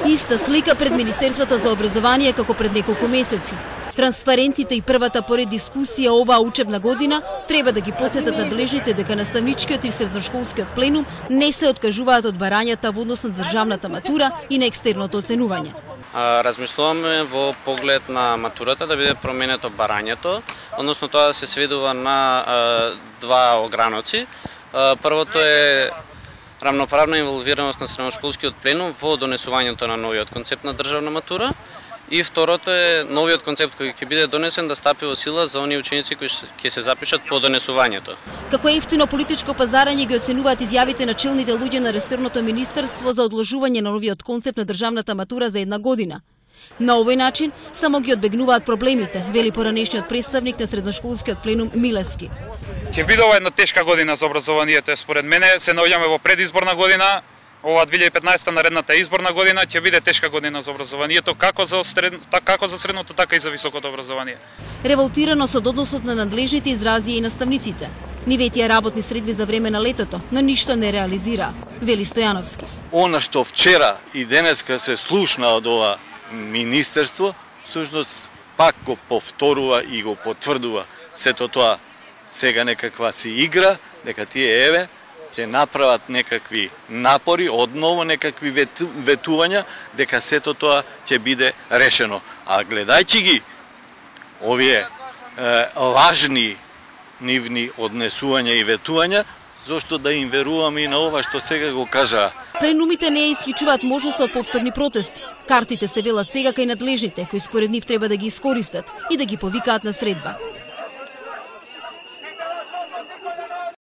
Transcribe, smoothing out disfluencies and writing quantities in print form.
Иста слика пред Министерството за образование како пред неколку месеци. Транспарентите и првата поред дискусија оваа учебна година треба да ги потсетат надлежните дека наставничкиот и средношколскиот пленум не се откажуваат од барањата во однос на државната матура и на екстерното оценување. Размислуваме во поглед на матурата да биде променето барањето, односно тоа да се сведува на два ограноци. Првото е рамноправна инволвираност на средношколскиот пленум во донесувањето на новиот концепт на државна матура. И второто е новиот концепт кој ќе биде донесен да стапи во сила за оние ученици кои ќе се запишат по донесувањето. Како ефтино политичко пазарање ги оценуваат изјавите на челните луѓе на ресорното министерство за одложување на новиот концепт на државната матура за една година. На овој начин само ги одбегнуваат проблемите, вели поранешниот представник на средношколскиот пленум Милевски. Ќе биде ова една тешка година за образованието, според мене се наоѓаме во предизборна година. Ова 2015 наредната изборна година ќе биде тешка година за образованието, како за средното, така и за високото образование. Револтираност од односот на надлежните изрази и наставниците. Нивејтија работни средби за време на летото, но ништо не реализира, вели Стојановски. Она што вчера и денеска се слушна од ова министерство, всушност пак го повторува и го потврдува сето тоа сега некаква си игра, дека тие еве ќе направат некакви напори, одново некакви ветувања, дека сето тоа ќе биде решено. А гледајќи ги овие лажни нивни однесувања и ветувања, зошто да им веруваме и на ова што сега го кажа. Пленумите не исклучуваат можност од повторни протести. Картите се велат сега кај надлежните, кои според нив треба да ги искористат и да ги повикаат на средба.